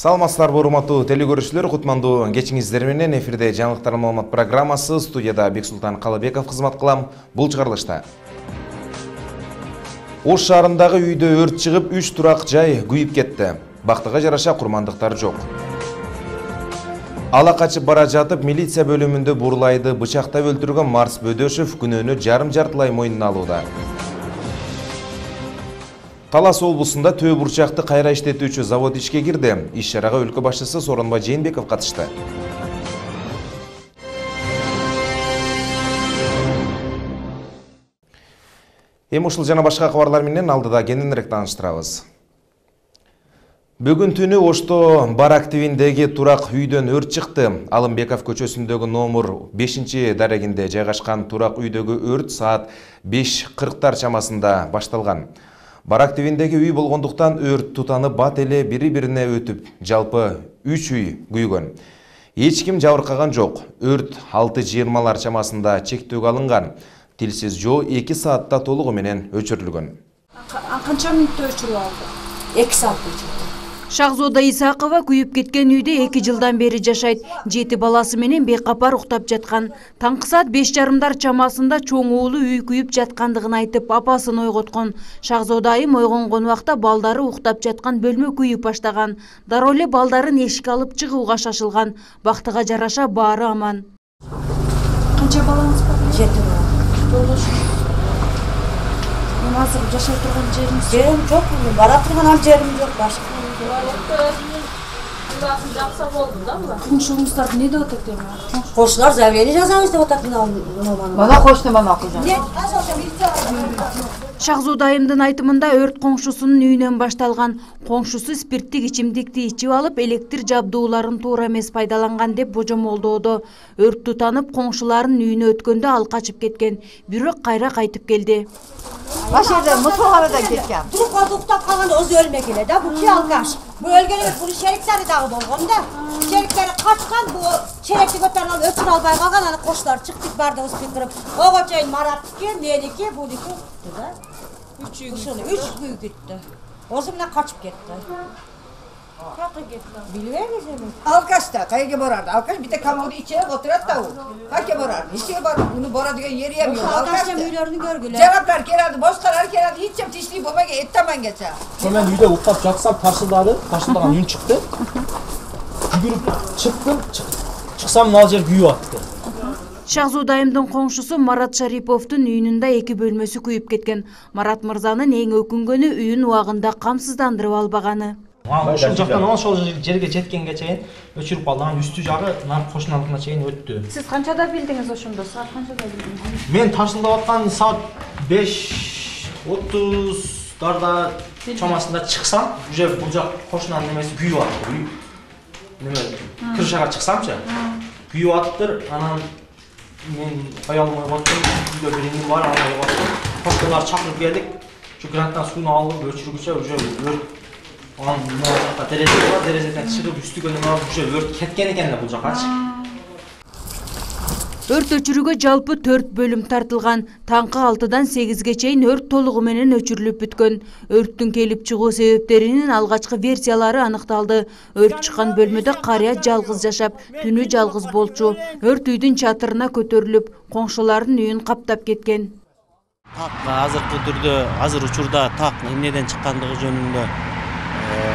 Саламатсыздарбы, урматтуу телекөрүүчүлөр, кутмандуу кечиңиздер менен эфирде жаңылыктар маалымат программасы, студияда Бексултан Калыбеков кызмат кылам. Бул чыгарылышта Ош шаарындагы үйдө өрт чыгып, 3 турак жай күйүп кетти. Бактыга жараша курмандыктар жок. Ала качып бара жатып, милиция бөлүмүндө Бурлайды бычактап өлтүргөн Марс Бөдөшев күнөөнү жарым-жартылай мойнуна алууда. Талас облусунда төө бурчакты кайра иштетүүчү завод ишке кирди. Иш чарага өлкө башчысы Сооронбай Жээнбеков катышты. Эми ушул жана башка кабарлар менен алдыда кененирээк тааныштырабыз. Бүгүн түнү Ошто Барак тибиндеги турак үйдөн өрт чыкты. Алымбеков көчөсүндөгү номер 5-дарегинде жайгашкан турак үйдөгү өрт саат 5:40 чамасында башталган. Барак тибиндеги үй болгондуктан өрт тутанып бат эле бири-бирине өтүп, жалпы 3 үй күйгөн. Эч ким жабыркаган жок. Өрт 6:20 чамасында чектөөгө алынган. Тилсиз жоо 2 саатта толугу менен өчүрүлгөн. Канча мүнөттө өчүрүп алды? 2 саатта өчүрдү. Шахзода Исакова күйүп кеткен үйдө 2 жылдан бери жашайт. 7 баласы менен бейкапар уктап жаткан. Таңкы саат 5:30 чамасында чоң уулу үй күйүп жаткандыгын айтып, апасын ойготкон. Шахзода айым ойгонгон убакта балдары уктап жаткан бөлмө күйүп баштаган. Дароо эле балдарын эшикке алып чыгууга шашылган. Бактыга жараша баары аман. Канча балаңыз бар? 7 бала. Азыр жашай турган жериңиз? Жерим жок, бара турган ал жерим жок, башка. Жакса болду да була. Коңшуңуздар эмне деп атат эми? Коңшулар заявление жазабыз деп атат мына. Бала кошту мама кызым. Шахзода айымдын айтымында өрт коңшусунун үйүнөн башталган. Коңшусу спирттик ичимдикти ичип алып, электр жабдууларын туура эмес пайдаланган деп божомолдоодо. Өрт тутанып, коңшуларынын үйүнө өткөндө ал качып кеткен, бирок кайра кайтып келди. Башырда мутфагына кеткен. Туруп калып уктап калганда өзү өлмөк эле да, бул ки алкаш. Бул өлгөн эмес, бул шериктери дагы болгон да. Шериктери качкан, бул черекти көтөрүп алып өчүрө албай калган, аны коштар чыктык бардыгыбыз кыйкырып. Ого чейин Мараттыки, меники, буники да. 3 үй кетти. Өзү менен качып кетти. Каяка кетти? Билбейбиз эми. Алкашта кайга барарды? Алкаш бите камоду ичип отурат да у. Кайга барарды? Ишке бар, муну бара деген жери эми жок. Алкашта үйлөрүнү көргүлө. Жараптар келди, бошкалар келди, ичем тиштей болбой эттамангача. Мен үйдө уктап жатсам таршылдаган үн чыкты. Жүгүрүп чыктым, чыксам ал жер күйүп атты. Шахзода айымдын коңшусу Марат Шариповдун үйүнүндө 2 бөлмөсү күйүп кеткен. Марат мырзанын эң өкүнгөнү үйүн убагында камсыздандырып албаганы. Ошол жактан ошол жерге жеткенге чейин өчүрүп калды. Анан үстү жагы кошуналыкына чейин өттү. Сиз канчада билдиңиз ошондо? Саат канчада билдиңиз? Мен таршылдап аткан саат 5:30 чамасында чыксам, уже бул жак кошунанын немеси күйүп атты. Неме крышага чыксамчы, күйүп аттыр. Анан мен аялым ойготтум, үйдө бир иним бар, аны ойготтум. Кошуналар чакырып келдик. Şu granttan suyunu alып өчүргүчө уже өрт анын мына терезе бар, терезеден чыгып үстүгө неме алып уже өрт кеткен экен да бул жакачы. Өрт өчүрүүгө жалпы 4 бөлүм тартылган. Таңкы 6-дан 8-ге чейин өрт толугу менен өчүрүлүп бүткөн. Өрттүн келип чыгуу себептеринин алгачкы версиялары аныкталды. Өрт чыккан бөлмөдө карыя жалгыз жашап, түнү жалгыз болчу. Өрт үйдүн чатырына көтөрүлүп, коңшулардын үйүн каптап кеткен. Азыркы түрдө, азыр учурда так эмнеден чыккандыгы жөнүндө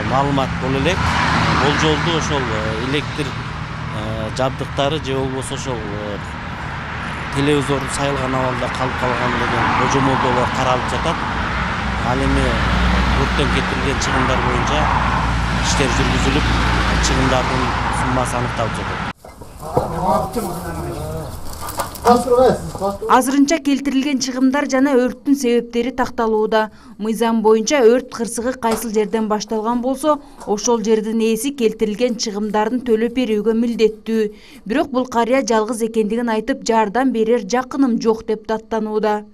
маалымат боло элек. Болжолду ошол электр жабдыктары же болбосо ошол телевизордун сайылган абалда калып калган деген божомолдоолор каралып жатат. Ал эми өрттөн кетирилген чыгымдар боюнча иштер жүргүзүлүп, чыгымдардын суммасы аныкталып жатат. Азырынча келтирилген чыгымдар жана өрттүн себептери такталууда. Мыйзам боюнча өрт кырсыгы кайсыл жерден башталган болсо, ошол жердин ээси келтирилген чыгымдарын төлөп берүүгө милдеттүү. Бирок бул карыя жалгыз экендигин айтып, жардам берер жакыным жок деп даттанууда.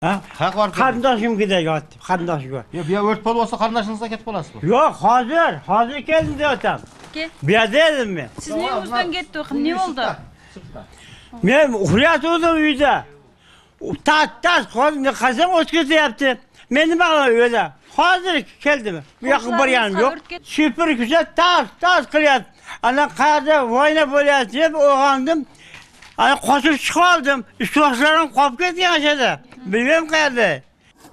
Карындашым киде жатты, карындашыма. Бия өрт болбосо карындашыңызга кетип каласызбы? Жок, азыр келдим деп атам. Бия дедим мен. Сиздин үйүңүздөн кетти, эмне болду? Мен уят удum үйдө. Taz kazan otkası yaptı. Benim ağlar öyle. Hazır geldim. Bu yakın bir yanım yok. Süpür güzel taz kırıyat. Ana kayada vayna böyle yapıp oğandım. Ana koşup çıkardım. Üstüvaşlarım kopuk etken aşağıda. Bilmem kayada.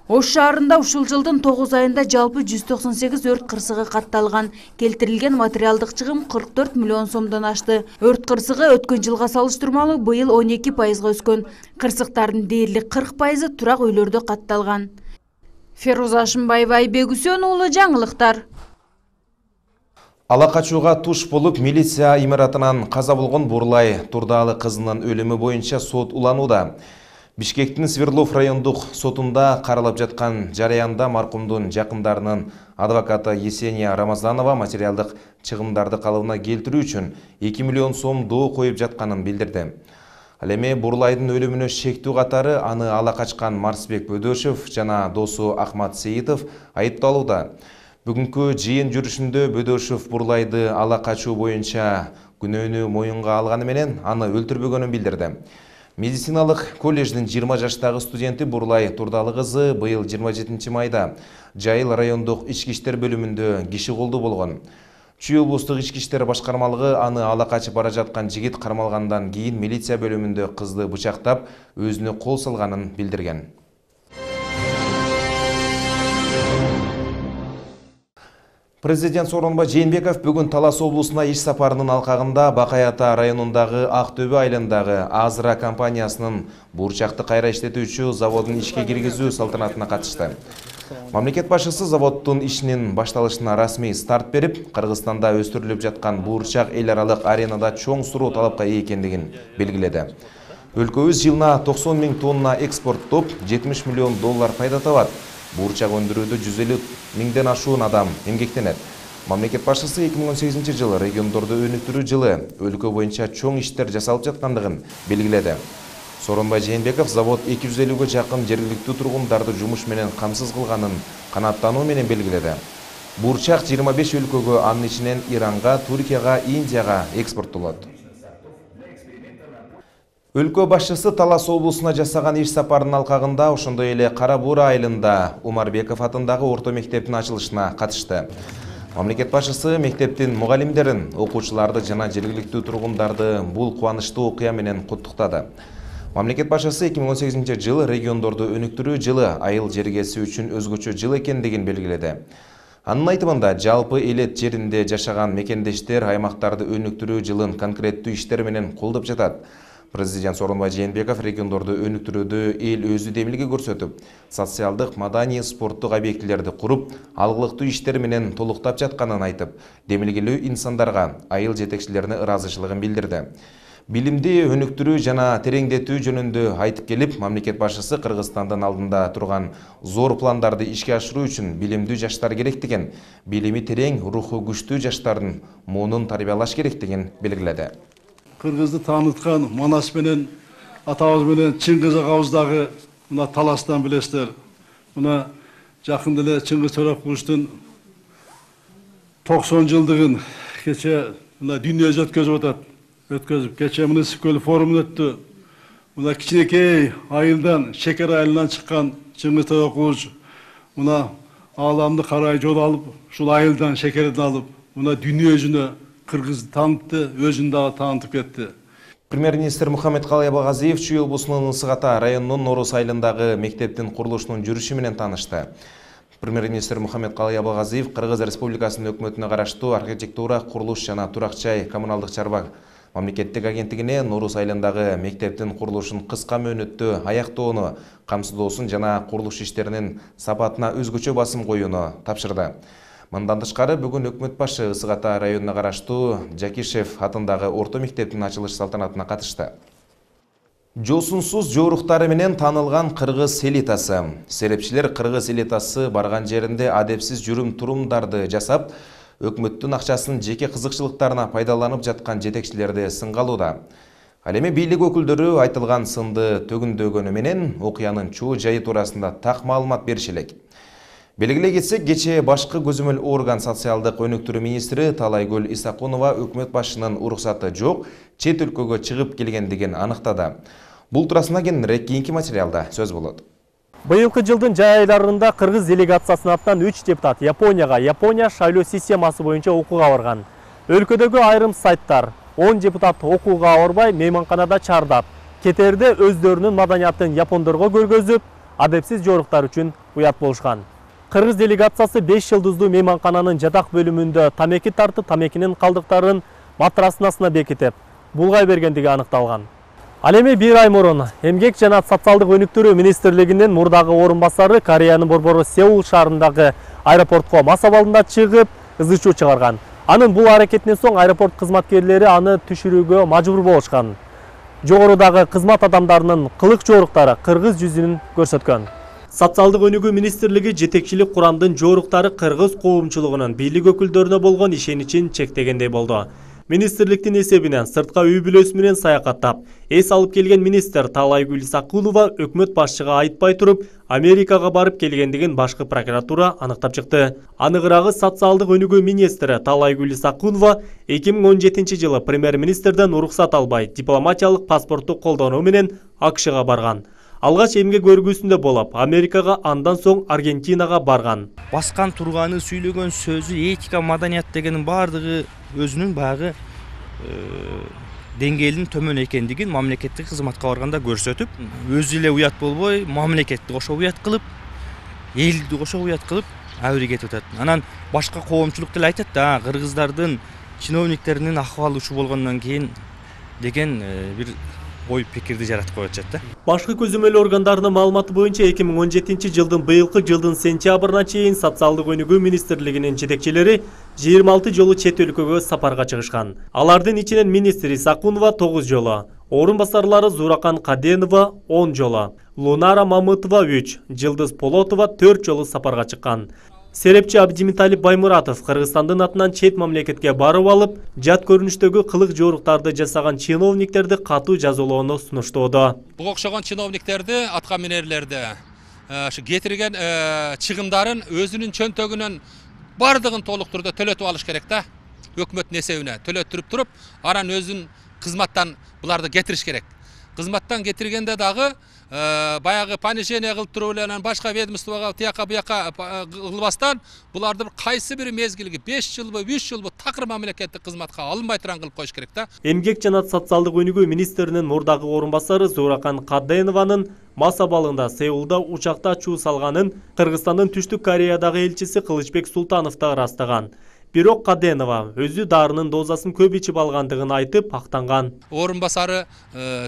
Ош шаарында ушул жылдын 9 айында жалпы 198 өрт кырсыгы катталган. Келтирилген материалдык чыгым 44 миллион сомдон ашты. Өрт кырсыгы өткөн жылга салыштырмалуу быйыл 12% өскөн. Кырсыктардын дээрлик 40% турак үйлөрдө катталган. Феруза Ашымбаева, Айбек Үсөн уулу, жаңылыктар. Ала качууга туш болуп, милиция имаратынан каза болгон Бурлай Турдаалы кызынын өлүмү боюнча сот уланууда. Бишкектин Свердлов райондук сотунда каралып жаткан жараянда маркумдун жакындарынын адвокаты Есения Рамазанова материалдык чыгымдарды калыбына келтирүү үчүн 2 миллион сом доо коюп жатканын билдирди. Ал эми Бурлайдын өлүмүнө шектүү катары аны ала качкан Марсбек Бөдөшев жана досу Ахмат Сейитов айыпталууда. Бүгүнкү жыйын жүрүшүндө Бөдөшев Бурлайды ала качуу боюнча күнөөнү моюнга алганы менен аны өлтүрбөгөнүн билдирди. Медициналык колледждин 20 жаштагы студенти Бурлай Турдаалы кызы быйыл 27 майда Жайыл райондук ички иштер бөлүмүндө киши колдуу болгон. Чүй облустук ички иштер башкармалыгы аны ала качып бара жаткан жигит кармалгандан кийин милиция бөлүмүндө кызды бычактап, өзүнө кол салганын билдирген. Президент Сооронбай Жээнбеков бүгүн Талас облусуна иш сапарынын алкагында Бакай Ата районундагы Актөбө айылындагы Азра компаниясынын бурчакты кайра иштетүүчү заводун ишке киргизүү салтанатына катышты. Мамлекет башчысы заводдун ишинин башталышына расмий старт берип, Кыргызстанда өстүрүлүп жаткан бурчак эл аралык аренада чоң суроо талапка ээ экендигин белгиледи. Өлкөбүз жылына 90 000 тонна экспорттоп, 70 миллион доллар пайда табат. Бурчак өндүрүүдө 150 000ден ашуун адам эмгектенет. Мамлекет башчысы 2018 жылы региондорду өнүктүрүү жылы өлкө боюнча чоң иштер жасалып жаткандыгын белгиледи. Сооронбай Жээнбеков завод 250ге жакын жергиликтүү тургундарды жумуш менен камсыз кылганын канааттануу менен белгиледи. Бурчак 25 өлкөгө, анын ичинен Иранга, Туркияга, Индияга экспорттолот. Өлкө башчысы Талас облусуна жасаган иш сапарынын алкагында ошондой эле Кара Буура айылында Умарбеков атындагы орто мектептин ачылышына катышты. Мамлекет башчысы мектептин мугалимдерин, окуучуларды жана жергиликтүү тургундарды бул кубанычтуу окуя менен куттуктады. Мамлекет башчысы 2018 жылы региондорду өнүктүрүү жылы айыл жергеси үчүн өзгөчө жыл экендигин белгиледи. Анын айтымында жалпы элет жеринде жашаган мекендештер аймактарды өнүктүрүү жылын конкреттүү иштер менен колдоп жатат. Президент Сооронбай Жээнбеков региондорду өнүктүрүүдө эл өзү демилге көрсөтүп, социалдык, маданий, спорттук объектилерди куруп, алгылыктуу иштер менен толуктап жатканын айтып, демилгелүү инсандарга, айыл жетекчилерине ыраазычылыгын билдирди. Билимди өнүктүрүү жана тереңдетүү жөнүндө айтып келип, мамлекет башчысы Кыргызстандын алдында турган зор пландарды ишке ашыруу үчүн билимдүү жаштар керектигин, билими терең, руху күчтүү жаштардын муунун тарбиялаш керектигин белгиледи. Кыргызды тааныткан Манас менен атабыз менен Чыңгыз агабыздагы мына Таластан билесиздер. Мына жакында эле Чыңгыз Төрөкуловдун 90 жылдыгын кече мына дүйнө өткөзүп атат. Кече муниципалдык форум өттү. Мына кичинекей айылдан, шекер айылынан чыккан Чыңгыз Төрөкулов мына ааламды карай жол алып, ушул айылдан шекерден алып, мына дүйнө жүзүнө Кыргызды таанытты, өзүн дагы таанытып кетти. Премьер-министр Мухаммедкалый Абагазиев Чүй облусунун Ысык-Ата районунун Норус айылындагы мектептин курулушунун жүрүшү менен таанышты. Премьер-министр Мухаммедкалый Абагазиев Кыргыз Республикасынын өкмөтүнө караштуу архитектура, курулуш жана турак-жай коммуналдык чарба мамлекеттик агенттигине Норус айылындагы мектептин курулушун кыска мөөнөттө аяктоону, камсыздоосун жана курулуш иштеринин сапатына өзгөчө басым коюуну тапшырды. Мындан тышкары бүгүн өкмөт башы Ысык-Ата районуна караштуу Жакишев атындагы орто мектептин ачылыш салтанатына катышты. Жосунсуз жоруктары менен таанылган кыргыз элитасы. Серепчилер кыргыз элитасы барган жеринде адепсиз жүрүм-турумдарды жасап, өкмөттүн акчасын жеке кызыкчылыктарына пайдаланып жаткан жетекчилерди сынга алууда. Ал эми бийлик өкүлдөрү айтылган сынды төгүндөгөнү менен окуянын чоо жайы туурасында так маалымат бериши элек. Белгилей кетсек, кечээ башкы көзөмөл орган социалдык өнүктүрүү министри Талайгүл Исакунова өкмөт башчынын уруксаты жок, чет өлкөгө чыгып келгендигин аныктады. Бул туурасында кененирээк кийинки материалда сөз болот. Быйылкы жылдын жай айларында кыргыз делегациясынын атынан 3 депутат Япония шайлоо системасы боюнча окууга барган. Өлкөдөгү айрым сайттар 10 депутат окууга барбай мейманканада чардап, кетерде өздөрүнүн маданиятын япондорго көргөзүп, адепсиз жоруктар үчүн уят болушкан. Кыргыз делегациясы 5 жылдыздуу мейманкананын жатак бөлүмүндө тамеки тартып, тамекинин калдыктарын матраснасына бекитип, булгай бергендиги аныкталган. Ал эми 1 ай мурун Эмгек жана социалдык өнүктүрүү министрлигинин мурдагы орун басары Кореянын борбору Сеул шаарындагы аэропортко мас абалында чыгып, ызы-чуу чыгарган. Анын бул аракетинен соң аэропорт кызматкерлери аны түшүрүүгө мажбур болушкан. Жогорудагы кызмат адамдарынын кылык жоруктары кыргыз жүзүн көрсөткөн. Социалдык өнүгүү министрлиги жетекчилик курамдын жоруктары кыргыз коомчулугунун бийлик өкүлдөрүнө болгон ишеничин чектегендей болду. Министрликтин эсебинен сыртка үй бүлөсү менен саякаттап, эс алып келген министр Таалайгүл Исакулова өкмөт башчыга айтпай туруп, Америкага барып келгендигин башкы прокуратура аныктап чыкты. Аныгыраагы социалдык өнүгүү министри Таалайгүл Исакулова 2017 жылы премьер-министрден уруксат албай, дипломатиялык паспортту колдонуу менен АКШга барган. Алгач эмгек көргүсүндө болуп, Америкага, андан соң Аргентинага барган. Баскан турганы, сүйлөгөн сөзү, этика, маданият дегенин баардыгы өзүнүн баягы деңгээлинин төмөн экендигин мамлекеттик кызматка барганда көрсөтүп, өзү эле уят болбой, мамлекетти кошо уят кылып, элди кошо уят кылып, абри кетип атат. Анан башка коомчулук деле айтат да, кыргыздардын чиновниктеринин акыбалы ушул болгондон кийин деген бир ой пикирди жаратып коюп атышат да. Башкы көзөмөл органдарынын маалыматы боюнча 2017 жылдын быйылкы жылдын сентябрына чейин социалдык өнүгүү министрлигинин жетекчилери 26 жолу чет өлкөгө сапарга чыгышкан. Алардын ичинен министр Исакунова 9 жолу, орун басарлары Зуракан Каденова 10 жолу, Лунара Мамытова 3, Жылдыз Полотова 4 жолу сапарга чыккан. Серепчи Абдимиталип Баймуратов Кыргызстандын атынан чет мамлекетке барып алып, жат көрүнүштөгү кылык жоруктарды жасаган чиновниктерди катуу жазалоону сунуштоодо. Буга окшогон чиновниктерди, атка минерлерди кетирген чыгымдарын өзүнүн чөнтөгүнөн бардыгын толук түрдө төлөтүп алыш керек да. Өкмөттүн эсебине төлөттүрүп туруп, анан өзүн кызматтан буларды кетириш керек. Кызматтан кетиргенде дагы баягы понижение кылып туруп эле анан башка ведомствого тияка буяка кылбастан буларды кайсы бир мезгилге 5 жылбы, 3 жылбы такыр мамлекеттик кызматка алынбай турган кылып коюш керек да. Эмгек жана социалдык өнүгүү министринин мурдагы орун басары Зуракан Каденованын мас абалында Сеулда учакта чуу салганын Кыргызстандын Түштүк Кореядагы элчиси Кылычбек Султанов да ырастаган. Бирок Каденова өзү дарынын дозасын көп ичип алгандыгын айтып актанган. Орун басары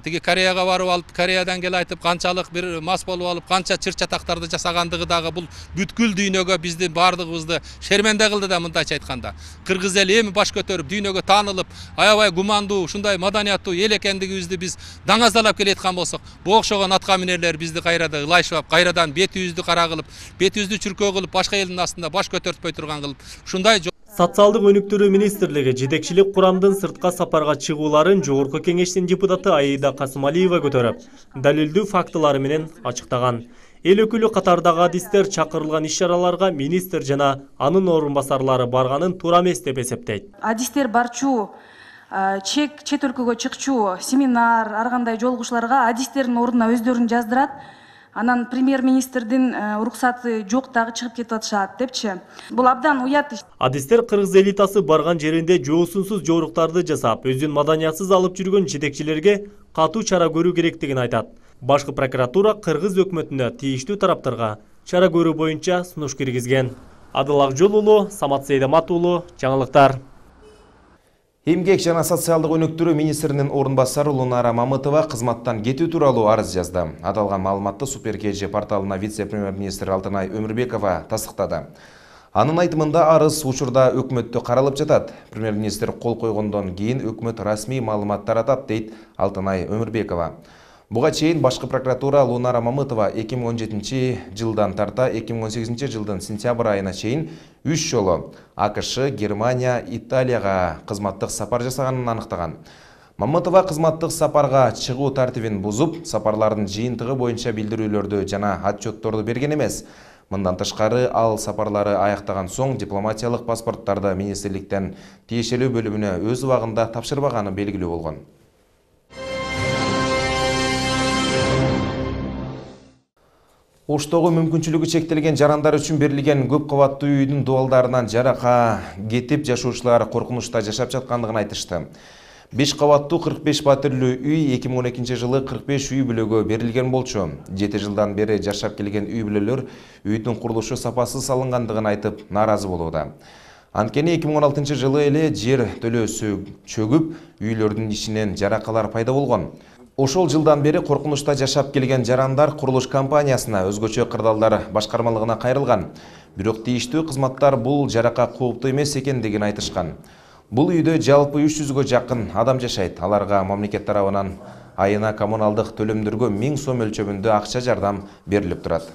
тиги Кореяга барып алып, Кореядан келип айтып, канчалык бир мас болуп алып, канча чыр-чатактарды жасагандыгы дагы бул бүткүл дүйнөгө биздин бардыгыбызды шерменде кылды да, мындайча айтканда. Кыргыз эли эми баш көтөрүп, дүйнөгө таанылып, аябай гумандуу, ушундай маданияттуу эл экендигибизди биз даңазалап келаткан болсок, бу окшогон атка минерлер бизди кайрадан ылайшап, кайрадан бетибизди кара кылып, бетибизди чүркөө кылып, башка элдин астында баш көтөртпөй турган кылып, ушундай Социалдык өнүктүрүү министрлиги жетекчилик курамдын сыртка сапарга чыгууларын Жогорку кеңештин депутаты Аида Касымалиева көтөрүп, далилдүү фактылары менен ачыктаган. Эл өкүлү катардагы адистер чакырылган иш-чараларга министр жана анын орун басарлары барганын туура эмес деп эсептейт. Адистер барчу, чет өлкөгө чыкчу, семинар, ар кандай жолугушууларга адистердин ордуна өздөрүн жаздырат. Анан премьер-министрдин уруксаты жок дагы чыгып кетип атышат депчи. Бул абдан уят иш. Адистер кыргыз элитасы барган жеринде жоосунсуз жоруктарды жасап, өзүн маданиятсыз алып жүргөн жетекчилерге катуу чара көрүү керектигин айтат. Башкы прокуратура кыргыз өкмөтүнө тийиштүү тараптарга чара көрүү боюнча сунуш киргизген. Адыл Акжол уулу, Самат Сейдамат уулу, жаңылыктар. Эмгек жана социалдык өнүктүрүү министринин орун басары Лунара Мамытова кызматтан кетүү тууралуу арыз жазды. Аталган маалыматты Супер КЖ порталына вице-премьер-министр Алтынай Өмүрбекова тастыктады. Анын айтымында арыз учурда өкмөттө каралып жатат. Премьер-министр кол койгондон кийин өкмөт расмий маалымат таратат, дейт Алтынай Өмүрбекова. Буга чейин башкы прокуратура Лунара Мамытова 2017 жылдан тарта 2018 жылдын сентябрь айына чейин 3 жолу АКШ, Германия, Италияга кызматтык сапар жасаганын аныктаган. Мамытова кызматтык сапарга чыгуу тартибин бузуп, сапарлардын жыйынтыгы боюнча билдирүүлөрдү жана отчетторду берген эмес. Мындан тышкары ал сапарлары аяктаган соң дипломатиялык паспорттарды министрликтен тиешелүү бөлүмүнө өз убагында тапшырбаганы белгилүү болгон. Оштогу мүмкүнчүлүгү чектелген жарандар үчүн берилген көп кабаттуу үйдүн дубалдарынан жарака кетип жашоочулар коркунучта жашап жаткандыгын айтышты. 5 кабаттуу 45 патирлүү үй 2012 жылы 45 үй бүлөгө берилген болчу. 7 жылдан бери жашап келген үй бүлөлөр үйдүн курулушу сапасыз салынгандыгын айтып нааразы болууда. Анткени 2016 жылы эле жер төлөөсү чөгүп, үйлөрдүн ичинен жаракалар пайда болгон. Ошол жылдан бери коркунучта жашап келген жарандар курулуш компаниясына өзгөчө кырдаалдар башкармалыгына кайрылган. Бирок тийиштүү кызматтар бул жарака кооптуу эмес экендигин айтышкан. Бул үйдө жалпы 300гө жакын адам жашайт. Аларга мамлекет тарабынан айына коммуналдык төлөмдөргө 1000 сом мөлчөрүндө акча жардам берилип турат.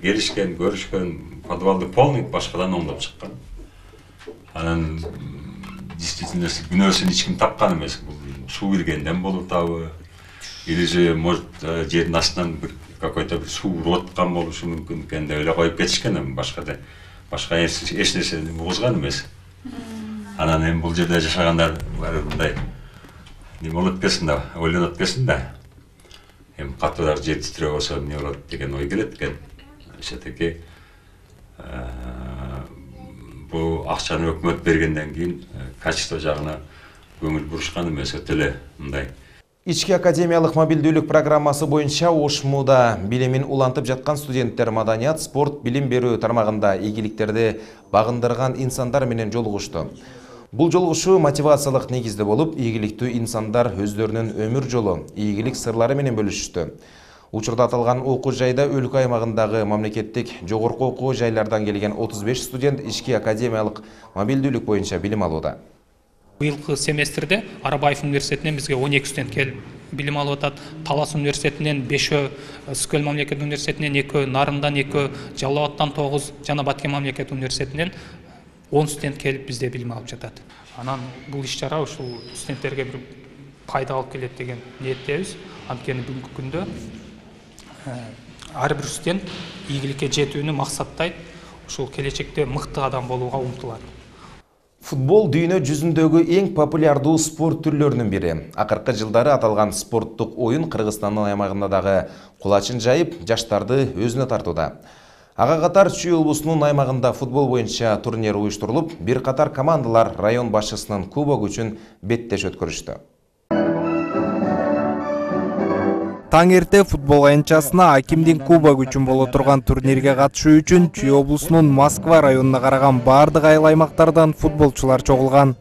Келишкен, көрүшкөн, подвалды полный башкадан оңдоп чыккан. Анан действительно күнөөсүн эч ким тапкан эмес. Бул суу киргенден болуп табы. Или же, может, жердин астынан какой-то суу уруп аткан болушу мүмкүн экен деп эле коюп кетишкен, башка эч нерсени угузган эмес. Анан эми бул жерде жашагандар баары мындай неме болот экенсин да, ойлонот экенсин да. Эми катуураак жер титирөө болсо эмне болот деген ой келет экен. Все-таки бул акчаны өкмөт бергенден кийин качество жагына көңүл бурушкан эмес, өтө эле мындай. Ички академиялык мобилдүүлүк программасы боюнча Ошмуда билимин улантып жаткан студенттер маданият, спорт, билим берүү тармагында ийгиликтерди багындырган инсандар менен жолугушту. Бул жолугушуу мотивациялык негизде болуп, ийгиликтүү инсандар өздөрүнүн өмүр жолу, ийгилик сырлары менен бөлүшүштү. Учурда аталган окуу жайда өлкө аймагындагы мамлекеттик жогорку окуу жайлардан келген 35 студент ички академиялык мобилдүүлүк боюнча билим алууда. Быйылкы семестрде Арабаев университетинен бизге 12 студент келип билим алып атат. Талас университетинен 5, Скөл мамлекет университетинен 2, Нарындан 2, Жалал Абадтан 9, жана Баткен мамлекет университетинен 10 студент келип бизде билим алып жатат. Анан бул иш-чара ушул студенттерге бир пайда алып келет деген ниеттебиз. Анткени бүгүнкү күндө ар бир студент ийгиликке жетүүнү максаттайт, ушул келечекте мыкты адам болууга умтулат. Футбол дүйнө жүзүндөгү эң популярдуу спорт түрлөрүнүн бири. Акыркы жылдары аталган спорттук оюн Кыргызстандын аймагында дагы кулачын жайып, жаштарды өзүнө тартууда. Ага катар Чүй облусунун аймагында футбол боюнча турнир уюштурулуп, бир катар командалар район башчысынын кубогу үчүн беттеш өткөрүштү. Таң эрте футбол аянтчасына Акимдин кубогу үчүн боло турган турнирге катышуу үчүн Чүй облусунун Москва районуна караган бардык айыл аймактардан футболчулар чогулган.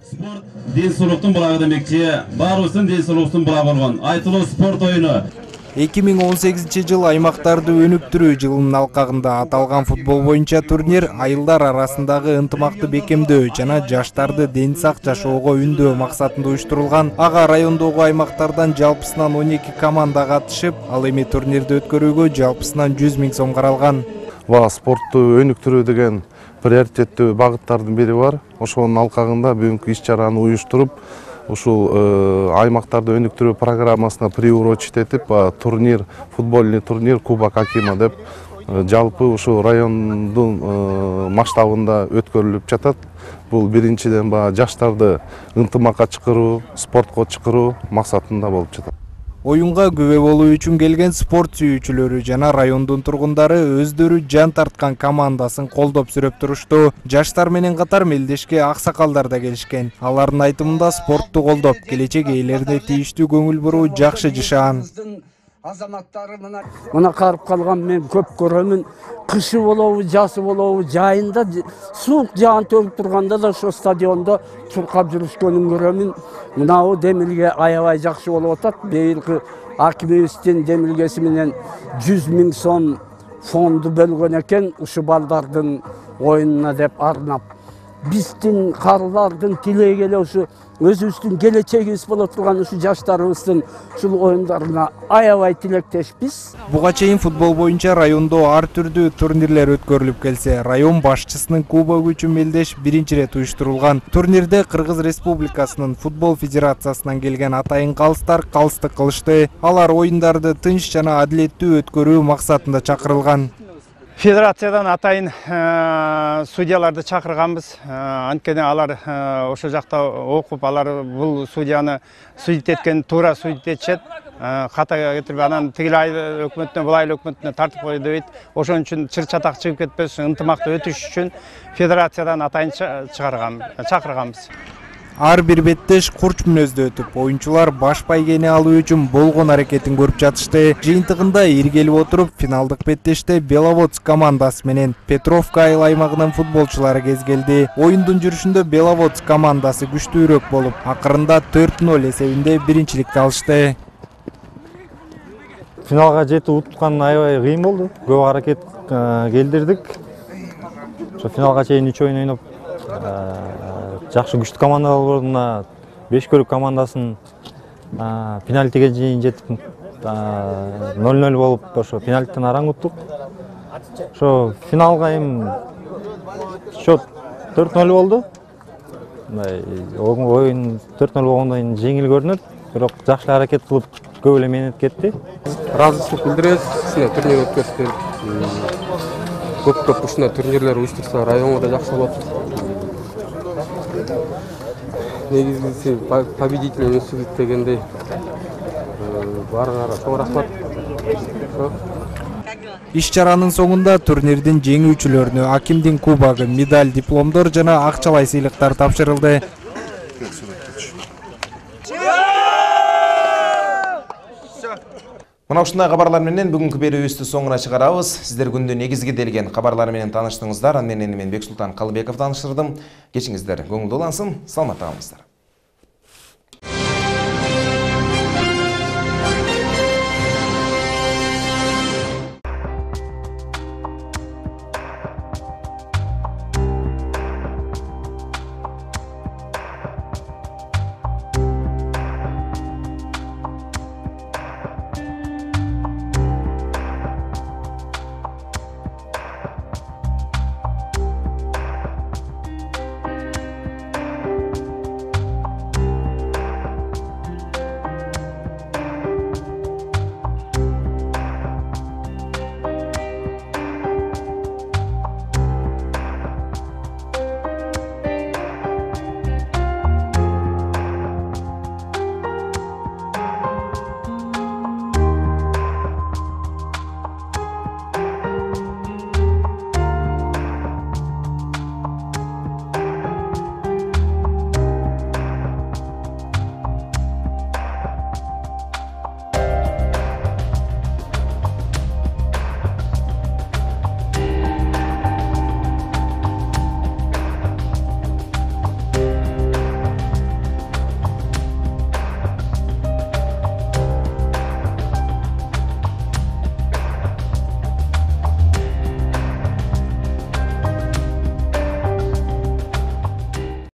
Ден соолуктун булагы демекчи, баарыбыздын ден соолуктун булагы болгон айтылуу спорт оюну. 2018 жыл аймактарды өнүктүрүү жылынын алкагында аталган футбол боюнча турнир айылдар арасындагы ынтымакты бекемдөө жана жаштарды ден сак жашоого үндөө максатында уюштурулган. Ага райондогу аймактардан жалпысынан 12 команда катышып, ал эми турнирди өткөрүүгө жалпысынан 100 000 сом каралган. Спортту өнүктүрүү деген приоритеттүү багыттардын бири бар. Ошонун алкагында бүгүнкү иш-чараны уюштуруп, ушул аймактарды өнүктүрүү программасына приурочить этип турнир, футбольный турнир Кубок Акима деп жалпы ушул райондун масштабында өткөрүлүп жатат. Бул биринчиден жаштарды ынтымакка чакыруу, спортко чакыруу максатында болуп жатат. Оюнга күбө болуу үчүн келген спорт сүйүүчүлөрү жана райондун тургундары өздөрү жан тарткан командасын колдоп сүрөп турушту. Жаштар менен катар мелдешке аксакалдар да келишкен. Алардын айтымында спортту колдоп, келечек ээлерине тийиштүү көңүл буруу жакшы жашаан. Мына карып калган мен көп көрөмүн. Кышы болобу, жазы болобу, жайында суук жаан төгүп турганда да ошо стадиондо чуркап жүрүшкөнүн көрөмүн. Мынабу демилге аябай жакшы болуп атат. Быйылкы акимибиздин демилгеси менен 100 000 сом фонду бөлгөн экен ушу балдардын оюнуна деп арнап. Биздин карылардын тилеги эле ушу өзүбүздүн келечегибиз боло турган ушу жаштарыбыздын ушул оюндарына аябай тилектешпиз. Буга чейин футбол боюнча райондо ар түрдүү турнирлер өткөрүлүп келсе, район башчысынын кубогу үчүн мелдеш биринчи ирет уюштурулган. Турнирде Кыргыз Республикасынын футбол федерациясынан келген атайын калыстар калыстык кылышты. Алар оюндарды тынч жана адилеттүү өткөрүү максатында чакырылган. Федерациядан атайын судьяларды чакырганбыз. Анткени алар ошол жакта окуп, алар бул судьяны судит эткен туура судит этишет. ката кетирип анан тигил айыл өкмөтүнө бул айыл өкмөтүнө тартып койду дейт. Ошон үчүн чыр чатак чыгып кетпеш үчүн ынтымакты өтүш үчүн федерациядан атайын чакырганбыз. Ар бир беттеш курч мүнөздө өтүп, оюнчулар баш байгени алуу үчүн болгон аракетин көрүп жатышты. Жыйынтыгында иргелип отуруп, финалдык беттеште Беловодск командасы менен Петровка айыл аймагынын футболчулары кезгелди. Оюндун жүрүшүндө Беловодск командасы күчтүүрөөк болуп, акырында 4-0 эсебинде биринчиликти алышты. Финалга жетип уткан аябай кыйын болду. Көп аракет келдирдик. Ошо финалга чейин 3 оюн ойноп, жакшы күчтүү командалар болду. Мына Бешкөлүк командасын пенальтиге чейин жетип 0-0 болуп, ошо пенальтиден араңуттук. Ошо финалга эми счет 4-0 болду. Оюн 4-0 болгондон кийин жеңил көрүнөт, бирок жакшы аракет кылып көп эле менет кетти. Разычылык билдиребиз, ушундай турнир өткөрүштүр. Көп ушундай турнирлер уюштурса районго да жакшы болот. Негизгиси победитель өсүп дегендей. Баарыңарга чоң рахмат. Иш-чаранын соңунда турнирдин жеңүүчүлөрүнө акимдин кубогу, медаль, дипломдор жана акчалай сыйлыктар тапшырылды. Мына ушундай кабарлар менен бүгүнкү берүүбүздү соңуна чыгарабыз. Сиздер күндүн негизги делген кабарлар менен тааныштыңыздар. Андан мен Бексултан Калыбеков тааныштырдым. Кечиңиздер көңүлдүү улансын, саламатта калыңыздар.